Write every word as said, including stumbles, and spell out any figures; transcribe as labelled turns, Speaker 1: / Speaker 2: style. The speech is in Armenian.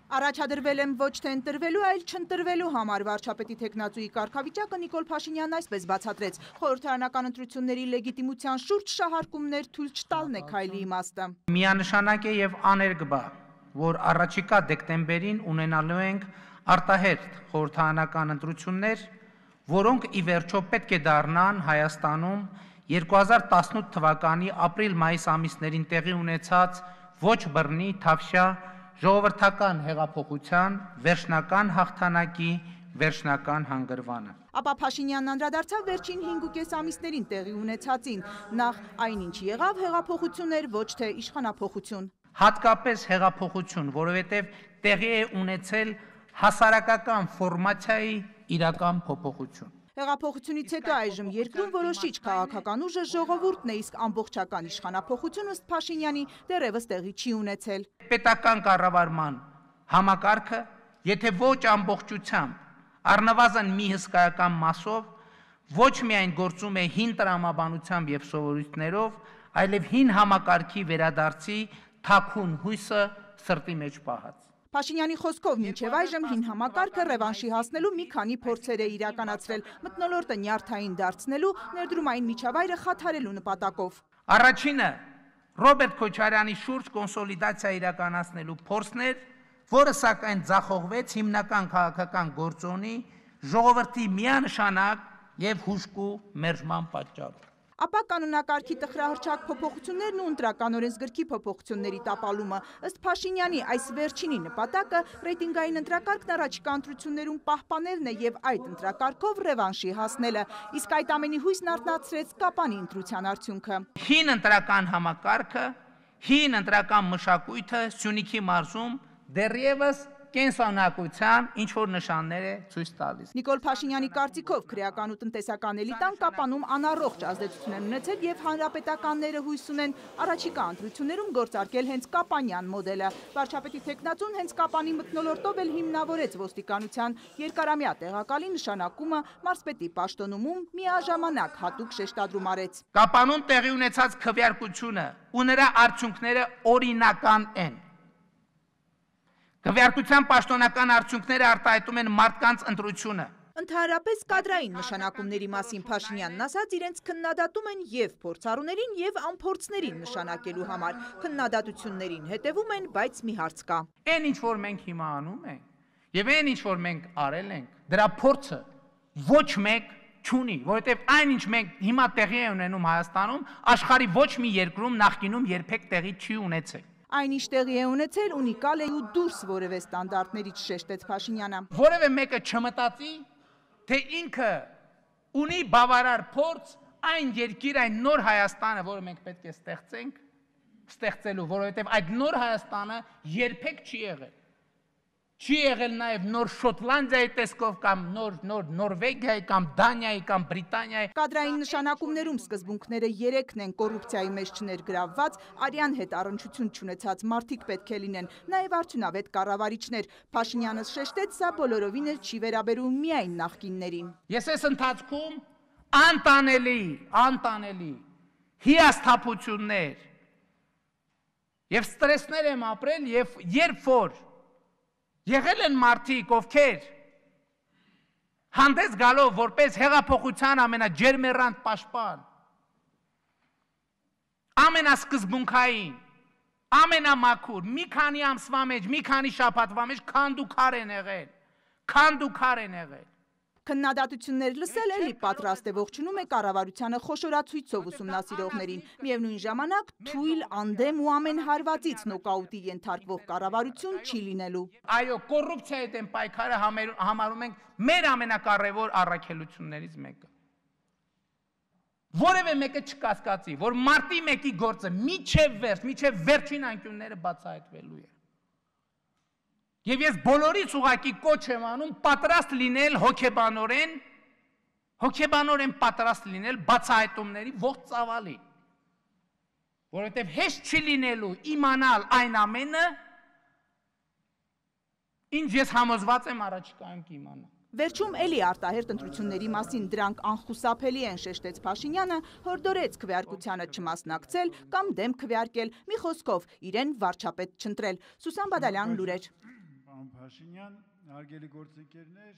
Speaker 1: Առաջադրվել եմ ոչ թե ընտրվելու, այլ չընտրվելու համար վարչապետի թեկնածուի կարգավիճակը Նիկոլ Փաշինյանն այսպես բացատրեց. խորհրդարանական ընտրությունների լեգիտիմության շուրջ շահարկումներ թույլ չտալն է քայլի իմաստը։
Speaker 2: Միանշանակ է եւ աներկբա, որ առաջիկա դեկտեմբերին ունենալու ենք արտահերթ խորհրդարանական ընտրություններ, որոնք ի վերջո պետք է դառնան Հայաստանում երկու հազար տասնութ թվականի ապրիլ-մայիս ամիսներին տեղի ունեցած ոչ բռնի, թավշյա ժողովրդական հեղափոխության վերջնական հաղթանակի վերջնական հանգրվանը։
Speaker 1: Ապա Փաշինյանն անդրադարձավ վերջին հինգուկես ամիսներին տեղի ունեցածին, նախ այնինչ եղավ հեղափոխություն էր, ոչ թե իշխանափոխություն։
Speaker 2: Հատկապես հեղափոխություն, որովհետև տեղի է ունեցել հասարակական ֆորմացիայի իրական փոփոխություն։
Speaker 1: Հեղափոխությունից հետո այժմ երկրում որոշիչ քաղաքական ուժը ժողովուրդն է, իսկ ամբողջական իշխանափոխություն ըստ Փաշինյանի դեռևս տեղի չի ունեցել։
Speaker 2: Պետական կառավարման համակարգը, եթե ոչ ամբողջությամբ, առնվազն մի հսկայական մասով, ոչ միայն գործում է հին տրամաբանությամբ եւ սովորույթներով, այլև հին համակարգի վերադարձի թաքուն հույսը սրտի մեջ պահած։
Speaker 1: Փաշինյանի խոսքով մինչև այժմ հին համակարգը ռևանշի հասնելու մի քանի փորձեր է իրականացրել, մթնոլորտը նյարդային դարձնելու, ներդրումային միջավայրը խաթարելու նպատակով։
Speaker 2: Առաջինը Ռոբերտ Քոչարյանի շուրջ կոնսոլիդացիա իրականացնելու փորձն էր, որը սակայն ձախողվեց հիմնական քաղաքական գործոնի, ժողովրդի միանշանակ եւ հուժկու մերժման պատճառով։
Speaker 1: Ապա կանոնակարգի տխրահռչակ փոփոխություններն ու ընտրական օրենսգրքի փոփոխությունների տապալումը, ըստ Փաշինյանի այս վերջինի նպատակը ռեյտինգային ընտրակարգն առաջիկա ընտրություններում պահպանելն է եւ այդ ընտրակարգով ռևանշի հասնելը, իսկ այդ ամենի հույսն արթնացրեց Կապանի ընտրության արդյունքը։
Speaker 2: Հին ընտրական համակարգը, հին ընտրական մշակույթը Սյունիքի մարզում դեռևս կենսանակության ինչ որ նշաններ է ցույց տալիս։
Speaker 1: Նիկոլ Փաշինյանի կարծիքով քրեական ու տնտեսական էլիտան Կապանում անառողջ ազդեցություն են ունեցել եւ հանրապետականները հույս ունեն առաջիկա ընտրություններում գործարկել հենց կապանյան մոդելը։ Վարչապետի թեկնածուն հենց Կապանի մթնոլորտով էլ հիմնավորեց ոստիկանության երկարամյա տեղակալի նշանակումը մարզպետի պաշտոնումում միաժամանակ հատուկ շեշտադրում արեց։
Speaker 2: Կապանում տեղի ունեցած քվեարկությունը ու նրա արդյունքները օրինական են։ Քվեարկության պաշտոնական արդյունքները արտահայտում են մարդկանց ընտրությունը։
Speaker 1: Ընդհանրապես կադրային նշանակումների մասին Փաշինյանն ասաց, իրենց քննադատում են եւ փորձառուներին եւ անփորձներին նշանակելու համար։ Քննադատություններին հետևում են, բայց մի հարց կա։
Speaker 2: Այն ինչ որ մենք հիմա անում ենք եւ այն ինչ որ մենք արել ենք, դրա փորձը ոչ մեկ չունի, որովհետեւ այն ինչ մենք հիմա տեղի է ունենում Հայաստանում, աշխարհի ոչ մի երկրում նախկինում երբեք տեղի չի ունեցել։
Speaker 1: Այնինչ տեղի է ունեցել ունիկալ է ու դուրս որևէ ստանդարտներից շեշտեց Փաշինյանը։
Speaker 2: Որևէ մեկը չմտածի, թե ինքը ունի բավարար փորձ այն երկիր, այն նոր Հայաստանը, որը մենք պետք է ստեղծենք, ստեղծելու, որովհետև այդ նոր Հայաստանը երբեք չի եղել։ Չի եղել նաև նոր Շոտլանդիայի տեսքով կամ նոր նոր Նորվեգիայի կամ Դանիայի կամ Բրիտանիայի։
Speaker 1: Կադրային նշանակումներում սկզբունքները երեքն են՝ կոռուպցիայի մեջ չներգրավված, արյան հետ առնչություն չունեցած մարդիկ պետք է լինեն, նաև արդյունավետ կառավարիչներ։ Փաշինյանը շեշտեց, սա բոլորովին էլ չի վերաբերում միայն նախկիններին։
Speaker 2: Ես այս ընթացքում անտանելի, անտանելի հիասթափություններ եւ ստրեսներ եմ ապրել եւ երբ որ եղել են մարդիկ, ովքեր հանդես գալով որպես հեղափոխության ամենաջերմեռանդ պաշտպան, ամենասկզբունքային, ամենամաքուր, մի քանի ամսվա մեջ, մի քանի շաբաթվա մեջ քանդուքար են եղել, քանդուքար են եղել։
Speaker 1: Քննադատություններ լսել էլի պատրաստ է ողջունում է կառավարությանը խոշորացույցով ուսումնասիրողներին։ Միևնույն ժամանակ թույլ, անդեմ ու ամեն հարվածից նոկաուտի ենթարկվող կառավարություն չի լինելու։
Speaker 2: Այո, կոռուպցիայի դեմ պայքարը համարում ենք մեր ամենակարևոր առաքելություններից մեկը։ Որևէ մեկը չկասկածի, որ մարտի մեկի գործը միջև վերջ, միջև վերջին անկյունները բացահայտվելու է։ Եվ ես բոլորից ուղղակի կոչ եմ անում պատրաստ լինել հոգեբանորեն, հոգեբանորեն պատրաստ լինել բացահայտումների ողջ ծավալի, որովհետև հեշտ չի լինելու իմանալ այն ամենը, ինչ ես համոզված եմ առաջիկայում կիմանալ։
Speaker 1: Վերջում էլի արտահերթ ընտրությունների մասին դրանք անխուսափելի են, շեշտեց Փաշինյանը, հորդորեց քվեարկությանը չմասնակցել կամ դեմ քվեարկել, մի խոսքով իրեն վարչապետ չընտրել։ Սուսան Բադալյան, լուրեր։
Speaker 3: Պարոն Փաշինյան, հարգելի գործընկերներ,